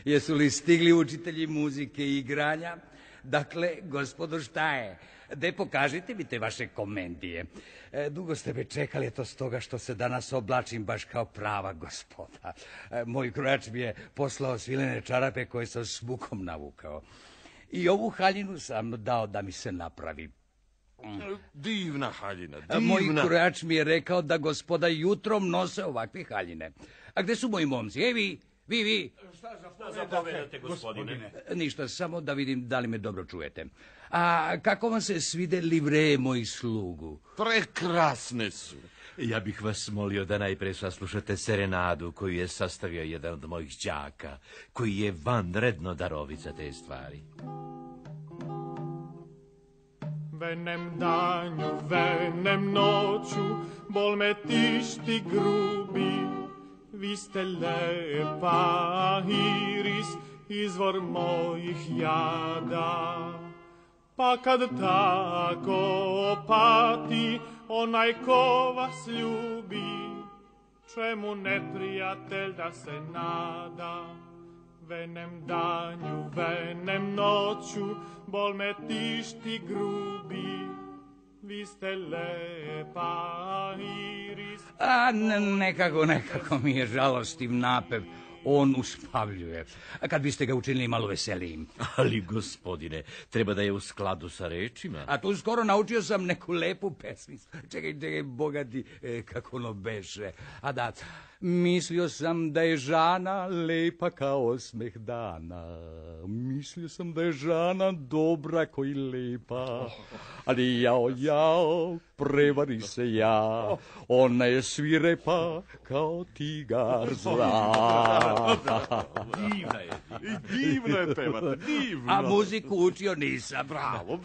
Jesu li stigli učitelji muzike i igranja? Dakle, gospodo, šta je? De, pokažite mi te vaše komedije. Dugo ste me čekali, to stoga što se danas oblačim baš kao prava gospoda. Moj krojač mi je poslao svilene čarape koje sam s mukom navukao. I ovu haljinu sam dao da mi se napravi. Divna haljina, divna. Moj krojač mi je rekao da gospoda jutrom nose ovakve haljine. A gde su moji momci? Vi? Šta zapovedate, gospodine? Ništa, samo da vidim da li me dobro čujete. A kako vam se svide livreje mojih slugu? Prekrasne su. Ja bih vas molio da najpre saslušate serenadu koju je sastavio jedan od mojih đaka, koji je vanredno darovit za te stvari. Venem danju, venem noću, bol me tišti grubi. Vi ste lepa iris, izvor mojih jada. Pa kad tako pati onaj ko vas ljubi, čemu neprijatelj da se nada? Venem danju, venem noću, bol me tišti grubi. Vi ste lepa iris. A nekako mi je žalostiv napev. On uspavljuje. A kad biste ga učinili malo veselijim? Ali, gospodine, treba da je u skladu sa rečima. A tu skoro naučio sam neku lepu pesmicu. Čekaj, bogati, kako ono beše. A da, mislio sam da je Žana lepa kao osmeh dana. Mislio sam da je Žana dobra koji lepa. Ali jao, prevari se ja. Ona je svirepa kao tigar zla. Divno je pevati, divno. A muziku učio nisam. Bravo.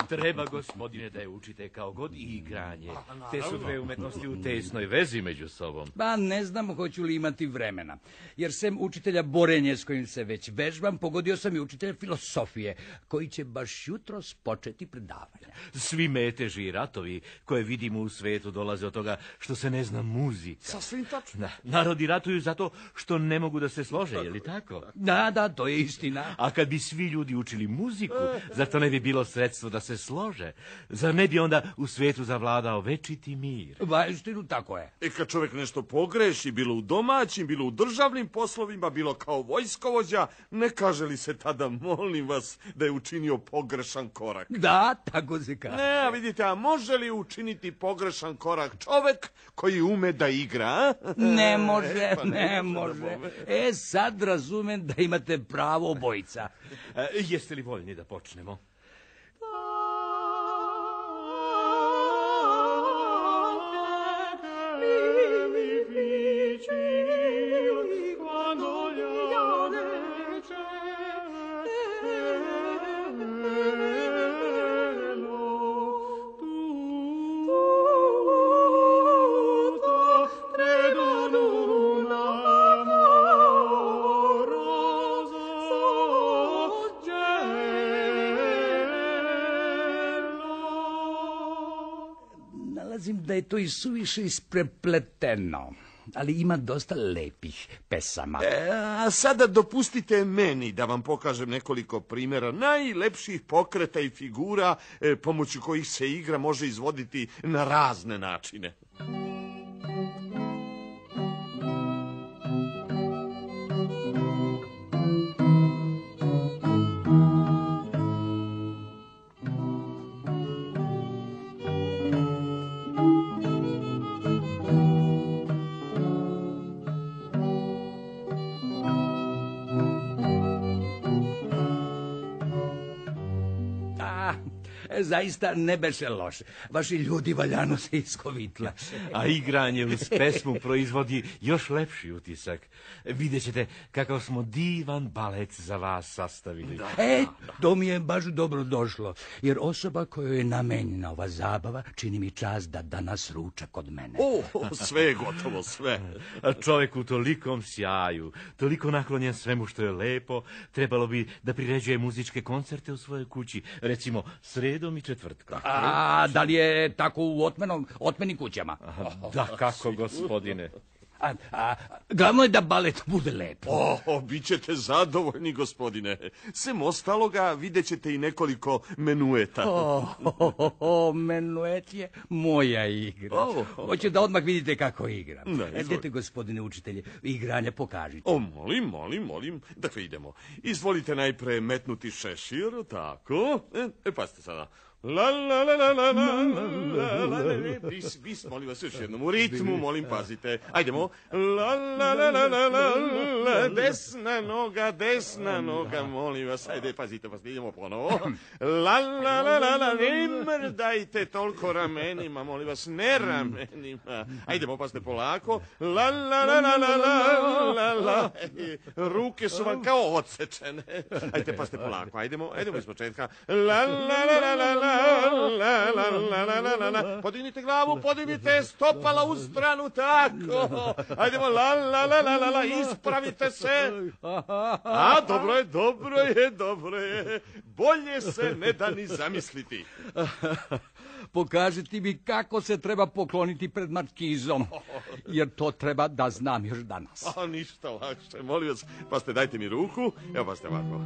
Treba, gospodine, da je učite kao god i igranje. Te su dve umetnosti u tesnoj vezi među sobom. Pa ne znam hoću li imati vremena. Jer sem učitelja borenja s kojim se već vežbam, pogodio sam i učitelja filosofije, koji će baš jutros početi predavanja. Svi meteži i ratovi koje vidimo u svetu dolaze od toga što se ne zna muzika. Sasvim tačno. Narodi ratuju zato što ne mogu da se slože, je li tako? Da, to je istina. A kad bi svi ljudi učili muziku, zar to ne bi bilo sredstvo da se slože? Zar ne bi onda u svetu zavladao večiti mir? Istinu, tako je. Kad čovjek nešto pogreši, bilo u domaćim, bilo u državnim poslovima, bilo kao vojskovođa, ne kaže li se tada, molim vas, da je učinio pogrešan korak? Da, tako se kaže. Ne, vidite, a može li učiniti pogrešan korak čovjek koji ume da igra? Ne može. Sad razumem da imate pravo, obojica. Jeste li voljni da počnemo? Da je to i suviše isprepleteno, ali ima dosta lepih pesama. A sada dopustite meni da vam pokažem nekoliko primjera najlepših pokreta i figura pomoću kojih se igra može izvoditi na razne načine. Zaista ne beše loše. Vaši ljudi valjano se iskovitla. A igranje uz pesmu proizvodi još lepši utisak. Vidjet ćete kakav smo divan balet za vas sastavili. To mi je baš dobro došlo, jer osoba kojoj je namenjena ova zabava čini mi čast da danas ruča kod mene. Sve je gotovo, sve. Čovjek u tolikom sjaju, toliko naklonjen svemu što je lepo, trebalo bi da priređuje muzičke koncerte u svojoj kući, recimo sredom i četvrtkom. A da li je tako u otmenim kućama? Da, kako, gospodine. Glavno je da balet bude lepo. Bit ćete zadovoljni, gospodine. Sem ostaloga vidjet ćete i nekoliko menueta. Menuet je moja igra. Hoće da odmah vidite kako igram. Idete, gospodine učitelje, igranje pokažite. Molim. Dakle, idemo. Izvolite najpre metnuti šešir, tako. Pazite sada. La la la la la la. Bis, molim vas, još jednom. U ritmu, molim, pazite. Ajdemo. La la la la la la. Desna noga, molim vas. Ajde, pazite, idemo ponovo. La la la la la. Ne mrdajte toliko ramenima, molim vas, ne ramenima. Ajdemo, pazite, polako. La la la la la la. Ruke su vam kao odsečene. Ajde, pazite, polako. Ajdemo iz početka. La la la la la. La. Podignite glavu, podignite stopala u stranu, tako. Ajdemo, la, ispravite se. Dobro je. Bolje se ne da ni zamisliti. Pokažite mi kako se treba pokloniti pred markizom, jer to treba da znam još danas. Ništa lakše, molim vas. Pazite, dajte mi ruku. Evo, pazite ovako.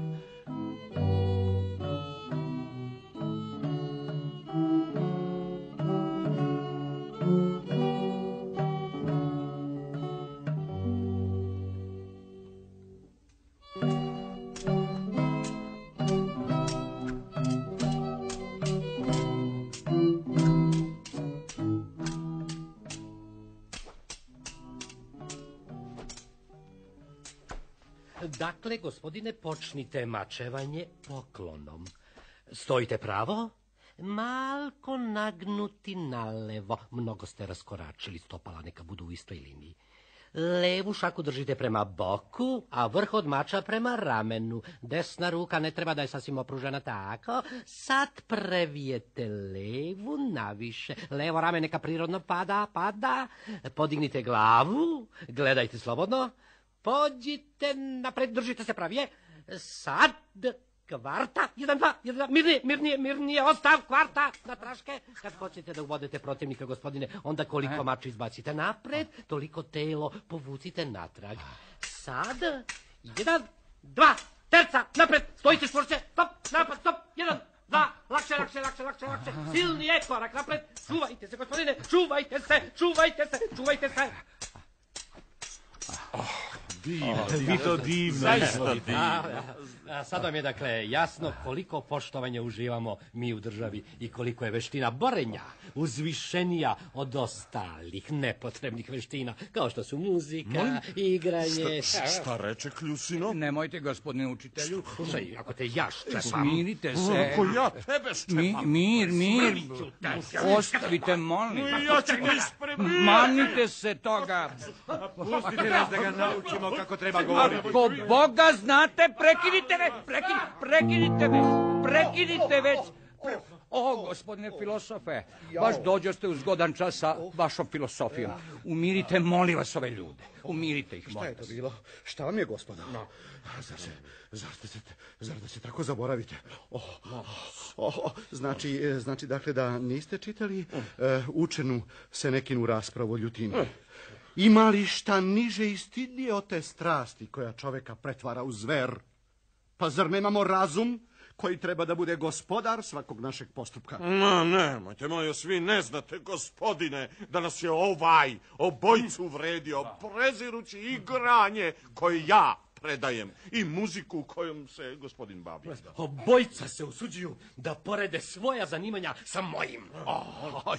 Dakle, gospodine, počnite mačevanje poklonom. Stojite pravo, malko nagnuti nalevo. Mnogo ste raskoračili, stopala neka budu u istoj liniji. Levu šaku držite prema boku, a vrh od mača prema ramenu. Desna ruka ne treba da je sasvim opružena, tako. Sad previjete levu naviše. Levo rame neka prirodno pada. Podignite glavu, gledajte slobodno. Pođite napred, držite se pravije. Sad, kvarta, 1, 2, mirnije, ostav, kvarta, na traške. Kad počnete da uvodete protivnika, gospodine, onda koliko mača izbacite napred, toliko telo povucite natrag. Sad, 1, 2, terca, napred, stojite čvršće, stop, napad, stop, 1, 2, lakše, silnije, korak napred, čuvajte se, gospodine, čuvajte se. Divno. Sad vam je, dakle, jasno koliko poštovanja uživamo mi u državi i koliko je veština borenja uzvišenija od ostalih nepotrebnih veština, kao što su muzika, igranje... Šta reče Kljusino? Nemojte, gospodine učitelju. Slušaj, ako te ja ščepam... Smirite se. Ako ja tebe ščepam? Mir. Ostavite, molim. Ja ću te ispremiti. Manite se toga. Pustite nas da ga naučimo kako treba govoriti. Ako Boga znate, prekinite već. Gospodine filosofe, baš dođoste u zgodan čas sa vašom filosofijom. Umirite, molim vas, ove ljude. Umirite ih, molim vas. Šta je to bilo? Šta vam je, gospodo? Zar da se tako zaboravite? Znači, dakle, da niste čitali učenu Senekinu raspravu o ljutini. Ima li šta niže i stidnije od te strasti koja čoveka pretvara u zver? Pa zar nemamo razum koji treba da bude gospodar svakog našeg postupka? Nemojte, vi ne znate, gospodine, da nas je obojcu vredio, prezirući igranje koje ja predajem i muziku kojom se gospodin bavi. Obojca se usuđuju da porede svoja zanimanja sa mojim.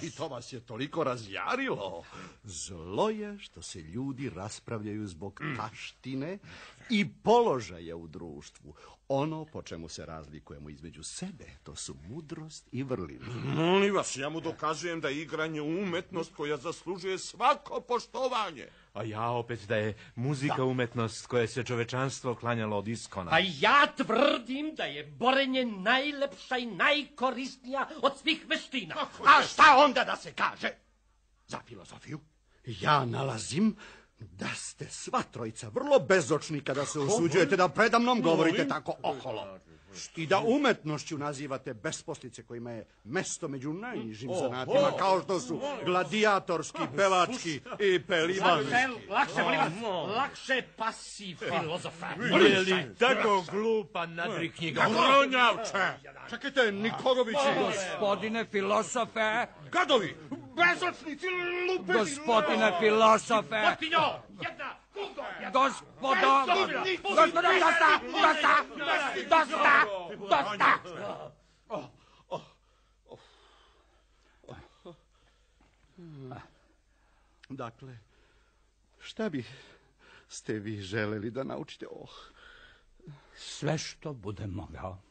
I to vas je toliko razjarilo. Zlo je što se ljudi raspravljaju zbog taštine i položaja u društvu. Ono po čemu se razlikujemo između sebe, to su mudrost i vrlina. Molim vas, ja mu dokazujem da je igranje umetnost koja zaslužuje svako poštovanje. A ja opet da je muzika umetnost koje se čovečanstvo klanjalo od iskona. A ja tvrdim da je borenje najlepša i najkorisnija od svih veština. A šta onda da se kaže za filozofiju? Ja nalazim da ste sva trojica vrlo bezočni kada se usuđujete da predamnom govorite tako oholo. I da umetnošću nazivate besposlice kojima je mesto među najnižim zanatima, kao što su gladijatorski, pevački i pelivanski. Lakše, molim vas, lakše pasi filozofa. Je li tako glupa nadri knjiga? Gronjavče! Čekajte, Nikolovići! Gospodine filosofe! Gadovi! Bezočnici, lupevi! Gospodine filosofe! Potinjo, jedna, drugo, Dosta! Dakle, šta ste vi želeli da naučite? Sve što budem mogao,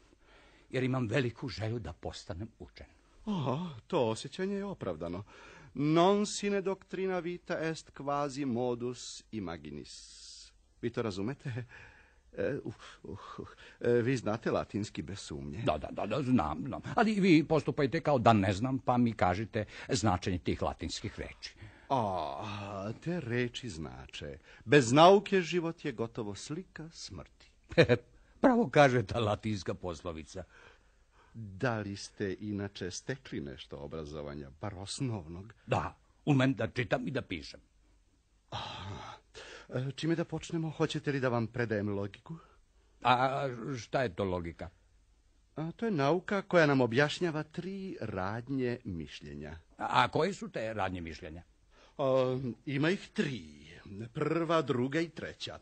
jer imam veliku želju da postanem učen. To osjećanje je opravdano. Non sine doctrina vita est quasi modus imaginis. Vi to razumete? Vi znate latinski bez sumnje. Da, znam. Ali vi postupajte kao da ne znam, pa mi kažite značenje tih latinskih reči. Te reči znače. Bez nauke život je gotovo slika smrti. Pravo kaže ta latinska poslovica. Da li ste inače stekli nešto obrazovanja, bar osnovnog? Da, umem da čitam i da pišem. Čime da počnemo? Hoćete li da vam predajem logiku? A šta je to logika? To je nauka koja nam objašnjava 3 radnje mišljenja. A koje su te radnje mišljenja? Ima ih 3. Prva, druga i treća.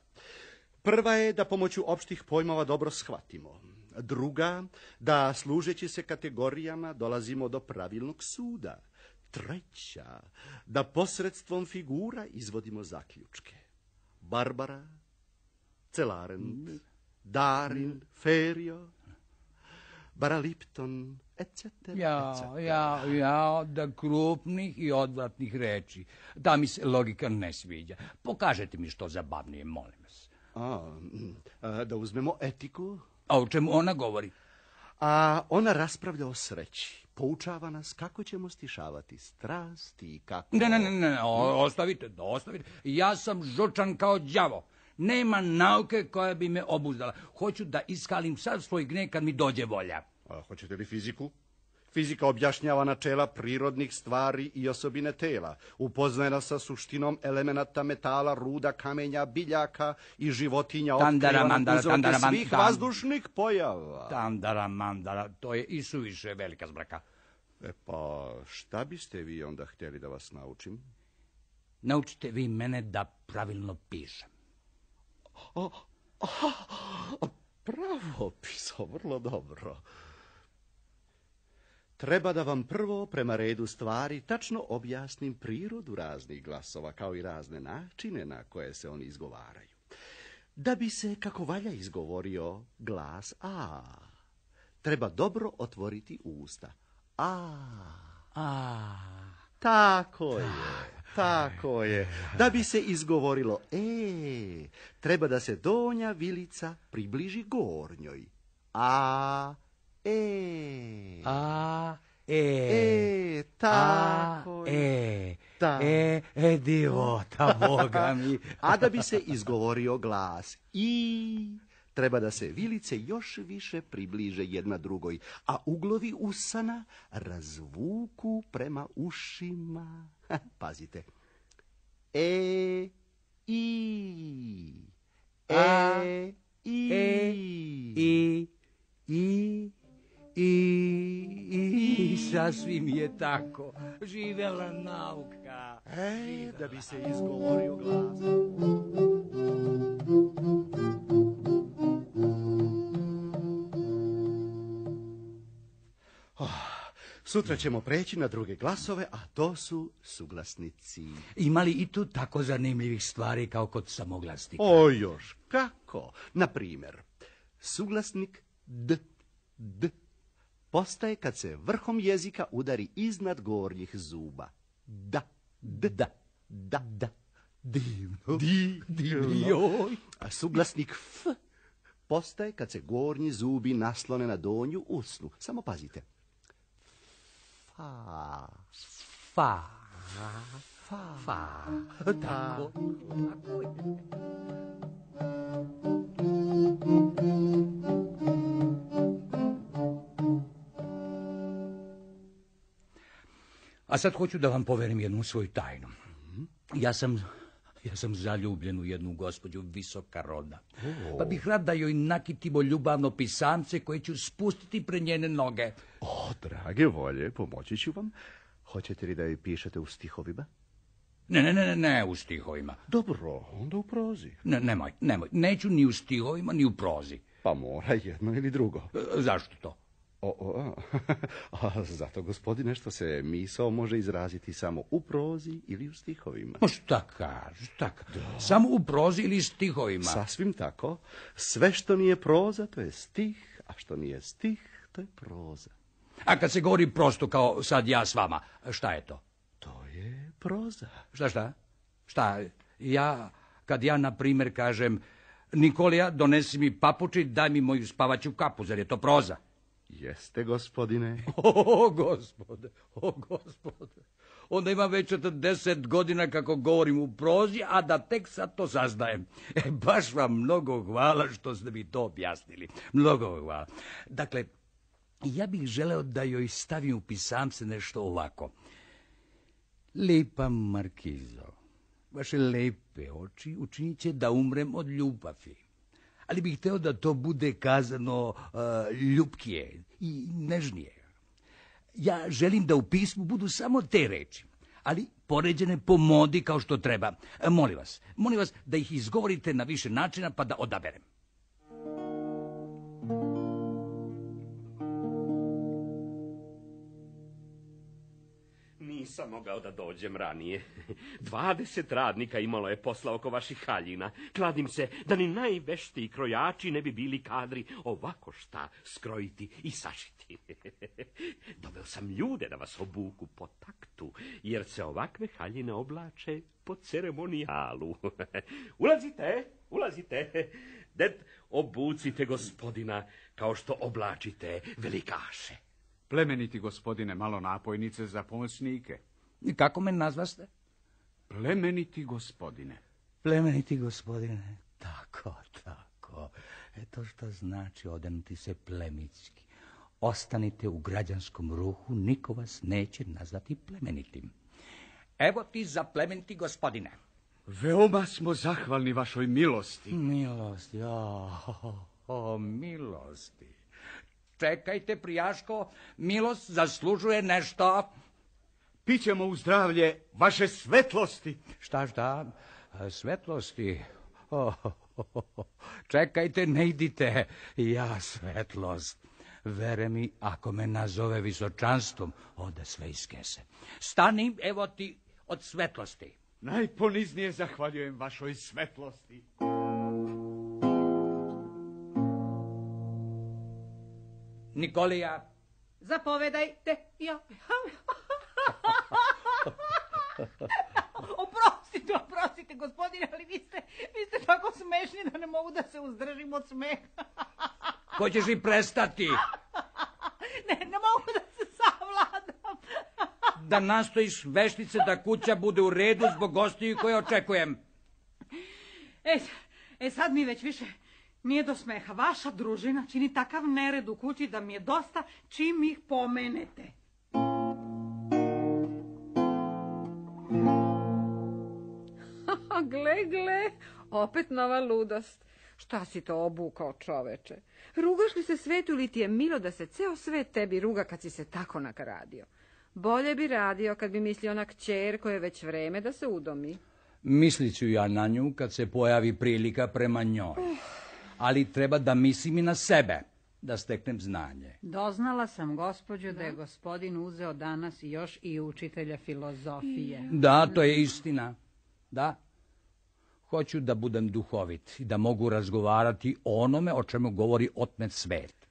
Prva je da pomoću opštih pojmova dobro shvatimo. Druga, da služeći se kategorijama dolazimo do pravilnog suda. Treća, da posredstvom figura izvodimo zaključke. Barbara, Celarent, Darin, Ferio, Baralipton, etc. Ja, da krupnih i odvratnih reči. Da mi se logika ne sviđa. Pokažete mi što zabavnije, molim vas. Da uzmemo etiku. A o čemu ona govori? A ona raspravlja o sreći. Poučava nas kako ćemo stišavati strast i kako... Ne, ostavite. Ja sam žučan kao đavo. Nema nauke koja bi me obuzdala. Hoću da iskalim sav svoj gnjev kad mi dođe volja. Hoćete li fiziku? Fizika objašnjava načela prirodnih stvari i osobine tela. Upoznaje nas sa suštinom elemenata metala, ruda, kamenja, biljaka i životinja. Otkriva nam uzroke svih vazdušnih pojava. Mandara, to je i suviše velika zbraka. Pa šta biste vi onda htjeli da vas naučim? Naučite vi mene da pravilno pišem. Pravopiso, vrlo dobro. Treba da vam prvo prema redu stvari tačno objasnim prirodu raznih glasova, kao i razne načine na koje se oni izgovaraju. Da bi se kako valja izgovorio glas A, treba dobro otvoriti usta. Tako je. Da bi se izgovorilo E, treba da se donja vilica približi gornjoj. Tako je. Divota, Boga mi. A da bi se izgovorio glas I, treba da se vilice još više približe jedna drugoj, a uglovi usana razvuku prema ušima. Pazite. I sasvim je tako. Živela nauka. Da bi se izgovorio glas. Sutra ćemo preći na druge glasove, a to su suglasnici. Ima li i tu tako zanimljivih stvari kao kod samoglasnika? Još kako? Na primjer, suglasnik D postaje kad se vrhom jezika udari iznad gornjih zuba. Da. Divno. A suglasnik F postaje kad se gornji zubi naslone na donju usnu. Samo pazite. Fa. Tako je. A sad hoću da vam poverim jednu svoju tajnu. Ja sam zaljubljen u jednu gospođu visoka roda. Pa bih rad da joj nakitimo ljubavno pisamce koje ću spustiti pred njene noge. O, drage volje, pomoći ću vam. Hoćete li da joj pišete u stihovima? Ne, u stihovima. Dobro, onda u prozi. Nemoj, neću ni u stihovima, ni u prozi. Pa mora jedno ili drugo. Zašto to? Zato, gospodine, što se misao može izraziti samo u prozi ili u stihovima. Pa šta kažeš, samo u prozi ili stihovima? Sasvim tako. Sve što nije proza, to je stih, a što nije stih, to je proza. A kad se govori prosto kao sad ja s vama, šta je to? To je proza. Šta? Kad ja, na primjer, kažem, Nikolija, donesi mi papuči, daj mi moju spavaću kapu, zar je to proza? Jeste, gospodine. O, gospode. Onda ima već 40 godina kako govorim u prozi, a da tek sad to saznajem. Baš vam mnogo hvala što ste mi to objasnili. Mnogo hvala. Dakle, ja bih želeo da joj stavim u pisamce nešto ovako. Lepa markizo, vaše lepe oči učinit će da umrem od ljubavi. Ali bih hteo da to bude kazano ljubkije i nežnije. Ja želim da u pismu budu samo te reči, ali poređene po modi kao što treba. Molim vas da ih izgovorite na više načina pa da odaberem. Nisam mogao da dođem ranije. 20 radnika imalo je posla oko vaših haljina. Kladim se da ni najveštiji krojači ne bi bili kadri ovako šta skrojiti i sašiti. Doveo sam ljude da vas obuku po taktu, jer se ovakve haljine oblače po ceremonijalu. Ulazite. Ded, obucite gospodina kao što oblačite velikaše. Plemeniti gospodine, malo napojnice za pomoćnike. I kako me nazvaste? Plemeniti gospodine. Plemeniti gospodine, tako. To što znači odenuti se plemitski. Ostanite u građanskom ruhu, niko vas neće nazvati plemenitim. Evo ti za plemeniti gospodine. Veoma smo zahvalni vašoj milosti. Milosti, milosti. Čekajte, prijaško, milost zaslužuje nešto. Pićemo u zdravlje vaše svetlosti. Šta? Svetlosti? Čekajte, ne idite. Ja svetlost. Vere mi, ako me nazove visočanstvom, ode sve iz kese. Stani, evo ti od svetlosti. Najponiznije zahvaljujem vašoj svetlosti. Nikolija. Zapovedajte. Oprostite, gospodine, ali vi ste tako smešni da ne mogu da se uzdržim od smeha. Hoćeš li prestati? Ne mogu da se savladam. Da nastojiš veštice da kuća bude u redu zbog gostiju koje očekujem. Sad mi već više nije do smeha. Vaša družina čini takav nered u kući da mi je dosta čim ih pomenete. Gle, opet nova ludost. Šta si to obukao, čoveče? Rugaš li se svetu ili ti je milo da se ceo svet tebi ruga kad si se tako nakaradio? Bolje bi radio kad bi mislio na kćer koje je već vreme da se udomi. Mislit ću ja na nju kad se pojavi prilika prema njoj. Ali treba da mislim i na sebe, da steknem znanje. Doznala sam, gospođo, da je gospodin uzeo danas još i učitelja filozofije. Da, to je istina. Da. Hoću da budem duhovit i da mogu razgovarati o onome o čemu govori otmet svet.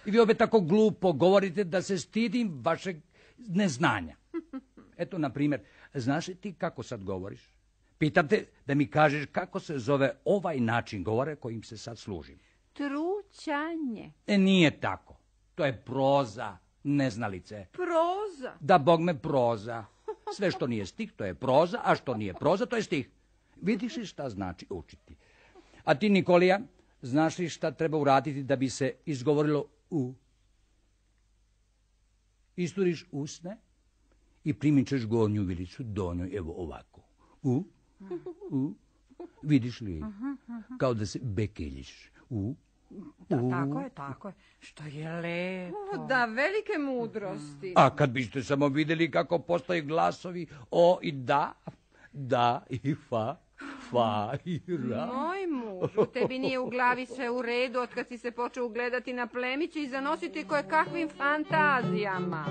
I vi opet tako glupo govorite da se stidim vašeg neznanja. Eto, na primjer, znaš li ti kako sad govoriš? Pitam te da mi kažeš kako se zove ovaj način govore kojim se sad služim. Trućanje. Nije tako. To je proza, neznalice. Proza? Da, bog me, proza. Sve što nije stih, to je proza, a što nije proza, to je stih. Vidiš li šta znači učiti? A ti, Nikolija, znaš li šta treba uraditi da bi se izgovorilo u? Isturiš usne i primit ćeš gornju vilicu, donju, evo ovako. Vidiš li? Kao da se bekeljiš. Tako je. Što je lepo. Da, velike mudrosti. A kad biste samo vidjeli kako postaju glasovi o i da i fa i ra. Moj mužu, tebi nije u glavi sve u redu od kad si se počeo ugledati na plemiće i zanositi koje kakvim fantazijama.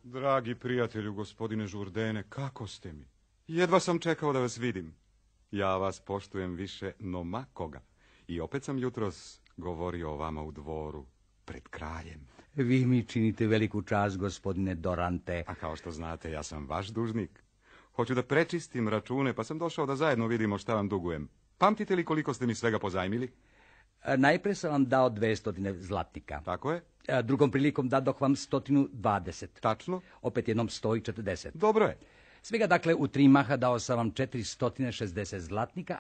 Dragi prijatelju, gospodine Jourdaine, kako ste mi? Jedva sam čekao da vas vidim. Ja vas poštujem više no ma koga. I opet sam jutros govorio o vama u dvoru, pred kraljem. Vi mi činite veliku čast, gospodine Dorante. A kao što znate, ja sam vaš dužnik. Hoću da prečistim račune, pa sam došao da zajedno vidimo šta vam dugujem. Pamtite li koliko ste mi svega pozajmili? Najprije sam vam dao 200 zlatnika. Tako je. Drugom prilikom dadoh vam 120. Tačno. Opet jednom 140. Dobro je. Svega, dakle, u 3 maha dao sam vam 460 zlatnika,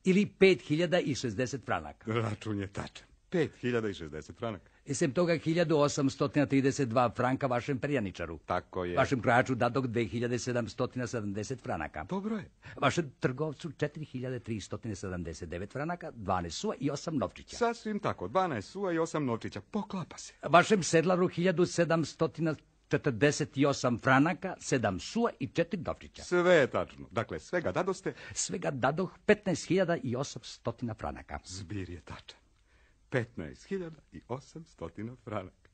ili 5060 franaka. Račun je tačan. 5060 franaka. Sem toga 1832 franka vašem perjaničaru. Tako je. Vašem krojaču dadog 2770 franaka. Dobro je. Vašem trgovcu 4379 franaka, 12 sua i 8 novčića. Sasvim tako, 12 sua i 8 novčića. Poklapa se. Vašem sedlaru 1748 franaka, 7 sua i 4 novčića. Sve je tačno. Dakle, svega dadoste? Svega dadoh 15.800 franaka. Zbir je tačan. 15.800 franaka.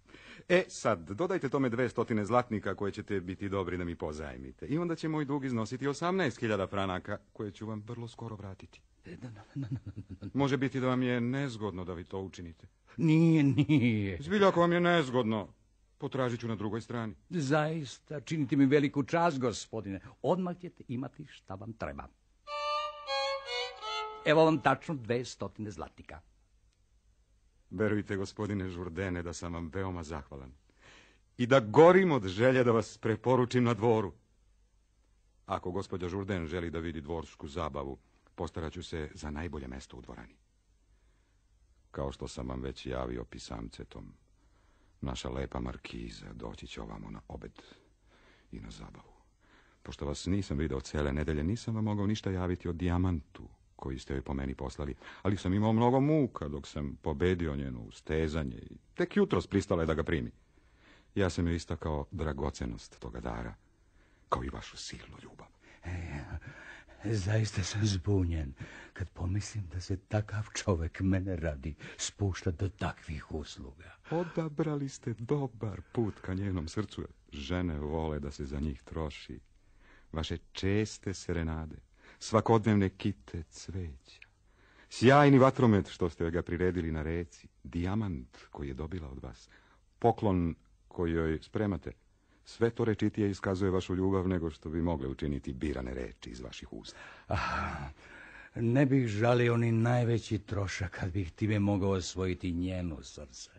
Sad, dodajte tome 200 zlatnika koje ćete biti dobri da mi pozajmite. I onda će moj dug iznositi 18.000 franaka, koje ću vam vrlo skoro vratiti. Može biti da vam je nezgodno da vi to učinite. Nije. Zbilja, ako vam je nezgodno, potražit ću na drugoj strani. Zaista, činite mi veliku čast, gospodine. Odmah ćete imati šta vam treba. Evo vam tačno 200 zlatnika. Verujte, gospodine Jourdaine, da sam vam veoma zahvalan. I da gorim od želje da vas preporučim na dvoru. Ako gospođa Jourdaine želi da vidi dvorsku zabavu, postarat ću se za najbolje mesto u dvorani. Kao što sam vam već javio pisamcetom, naša lepa markiza doći će ovamo na obed i na zabavu. Pošto vas nisam video cele nedelje, nisam vam mogao ništa javiti o dijamantu koji ste joj po meni poslali, ali sam imao mnogo muka dok sam pobedio njeno ustezanje i tek jutros pristala je da ga primi. Ja sam joj istakao dragocenost toga dara, kao i vašu silnu ljubav. Zaista sam zbunjen kad pomislim da se takav čovjek mene radi spušta do takvih usluga. Odabrali ste dobar put ka njenom srcu. Žene vole da se za njih troši. Vaše česte serenade, svakodnevne kite cveća, sjajni vatromet što ste ga priredili na reci, dijamant koji je dobila od vas, poklon koji joj spremate, sve to rečitije iskazuje vašu ljubav nego što bi mogle učiniti birane reči iz vaših usta. Ne bih žalio ni najveći trošak kad bih time mogao osvojiti njeno srce.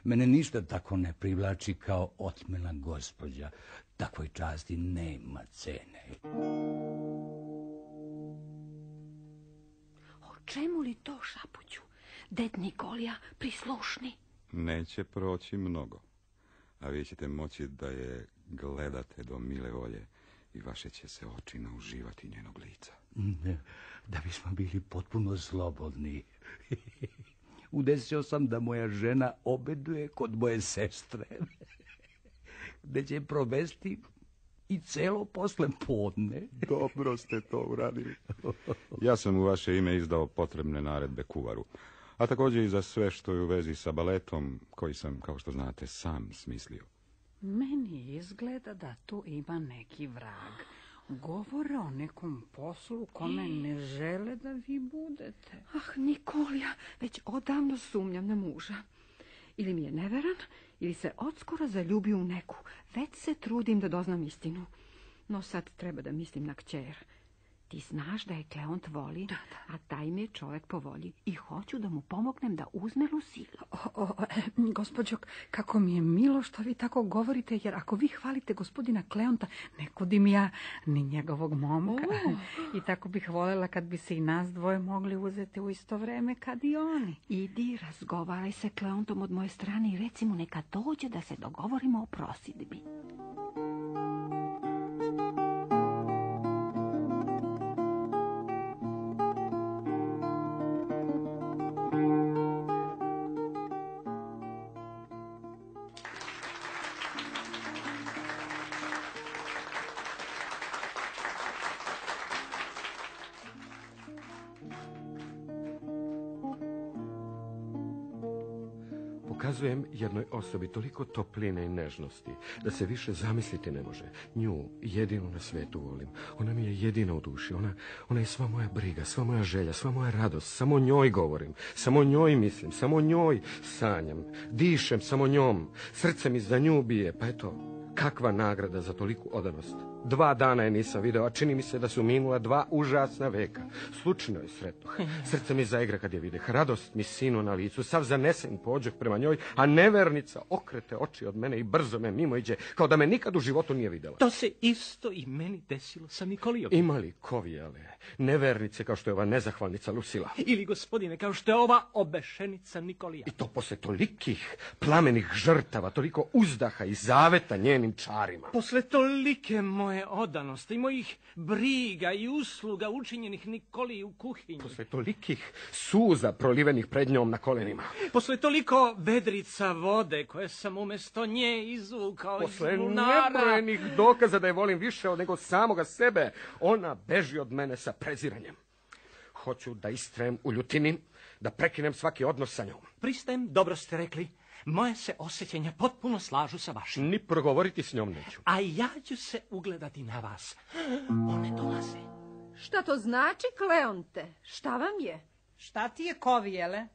Mene ništa tako ne privlači kao otmena gospođa. Takvoj časti nema cene. O čemu li to šapuću? Ded Nikolija prislušni. Neće proći mnogo, a vi ćete moći da je gledate do mile volje i vaše će se oči nauživati njenog lica. Da bismo bili potpuno slobodni. Udesio sam da moja žena obeduje kod moje sestre, gde će provesti i celo posle podne. Dobro ste to uradili. Ja sam u vaše ime izdao potrebne naredbe kuvaru, a također i za sve što je u vezi sa baletom, koji sam, kao što znate, sam smislio. Meni izgleda da tu ima neki vrag. Govore o nekom poslu kome ne žele da vi budete. Nikolija, već odavno sumnjam na muža. Ili mi je neveran, ili se odskoro zaljubio u neku. Već se trudim da doznam istinu. No sad treba da mislim na kćer. Ti znaš da je Kleont voli, a taj mi je čovjek po volji i hoću da mu pomognem da uzme Lusilu. Gospođo, kako mi je milo što vi tako govorite, jer ako vi hvalite gospodina Kleonta, ne kudim ja ni njegovog momka. I tako bih voljela kad bi se i nas dvoje mogli uzeti u isto vreme kad i oni. Idi, razgovaraj se Kleontom od moje strane i reci mu neka dođe da se dogovorimo o prosidbi. Pokazujem jednoj osobi toliko topline i nežnosti da se više zamisliti ne može. Nju jedinu na svetu volim. Ona mi je jedina u duši. Ona je sva moja briga, sva moja želja, sva moja radost. Samo njoj govorim, samo njoj mislim, samo njoj sanjam. Dišem samo njom. Srce mi za nju bije. Pa eto, kakva nagrada za toliku odanost. 2 dana je nisam video, a čini mi se da su minula 2 užasna veka. Slučajno je sretno. Srce mi zaigra kad je videh. Radost mi sinu na licu, sav zanesen pođeh prema njoj, a nevernica okrete oči od mene i brzo me mimo iđe, kao da me nikad u životu nije videla. To se isto i meni desilo sa Nikolijom. Ima li kovijale, nevernice kao što je ova nezahvalnica Lucila? Ili, gospodine, kao što je ova obešenica Nikolija. I to posle tolikih plamenih žrtava, toliko uzdaha i zaveta njenim čarima. Posle tolike moje odanosti i mojih briga i usluga učinjenih Nikoliji u kuhinji. Posle tolikih suza prolivenih pred njom na kolenima. Posle toliko vedrica vode koje sam umjesto nje izvukao iz bunara. Posle nebrojenih dokaza da je volim više nego samoga sebe, ona beži od mene sa preziranjem. Hoću da istrajem u ljutini, da prekinem svaki odnos sa njom. Pristajem, dobro ste rekli. Moje se osjećanja potpuno slažu sa vašim. Ni progovoriti s njom neću. A ja ću se ugledati na vas. One dolaze. Šta to znači, Kleonte? Šta vam je? Šta ti je, kovijele?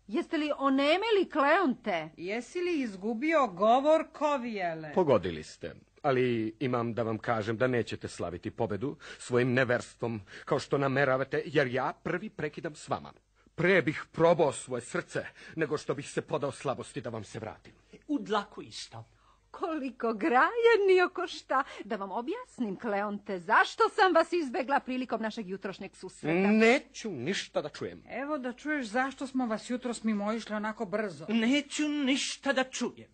Jeste li onemeli, Kleonte? Jesi li izgubio govor, kovijele? Pogodili ste. Ali imam da vam kažem da nećete slaviti pobedu svojim neverstvom, kao što nameravate, jer ja prvi prekidam s vama. Pre bih probao svoje srce, nego što bih se podao slabosti da vam se vratim. U dlaku isto. Koliko grajeni oko šta. Da vam objasnim, Kleonte, zašto sam vas izbegla prilikom našeg jutrošnjeg susreta. Neću ništa da čujem. Evo da čuješ zašto smo vas jutros mimoišli onako brzo. Neću ništa da čujem.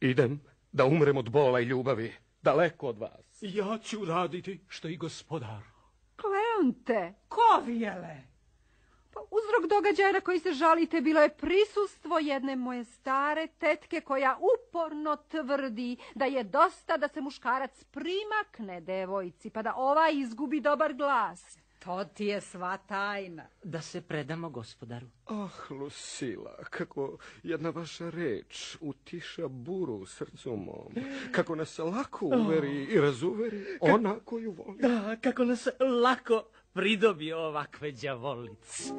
Idem da umrem od bola i ljubavi, daleko od vas. Ja ću raditi što i gospodar. Kleonte, kovijele. Pa uzrok događaja na koji se žalite bilo je prisustvo jedne moje stare tetke koja uporno tvrdi da je dosta da se muškarac primakne devojci pa da ova izgubi dobar glas. To ti je sva tajna. Da se predamo gospodaru. Lucila, kako jedna vaša reč utiša buru u srcu mom. Kako nas lako uveri i razuveri ona koju voli. Da, kako nas lako pridobije ovakve đavolice.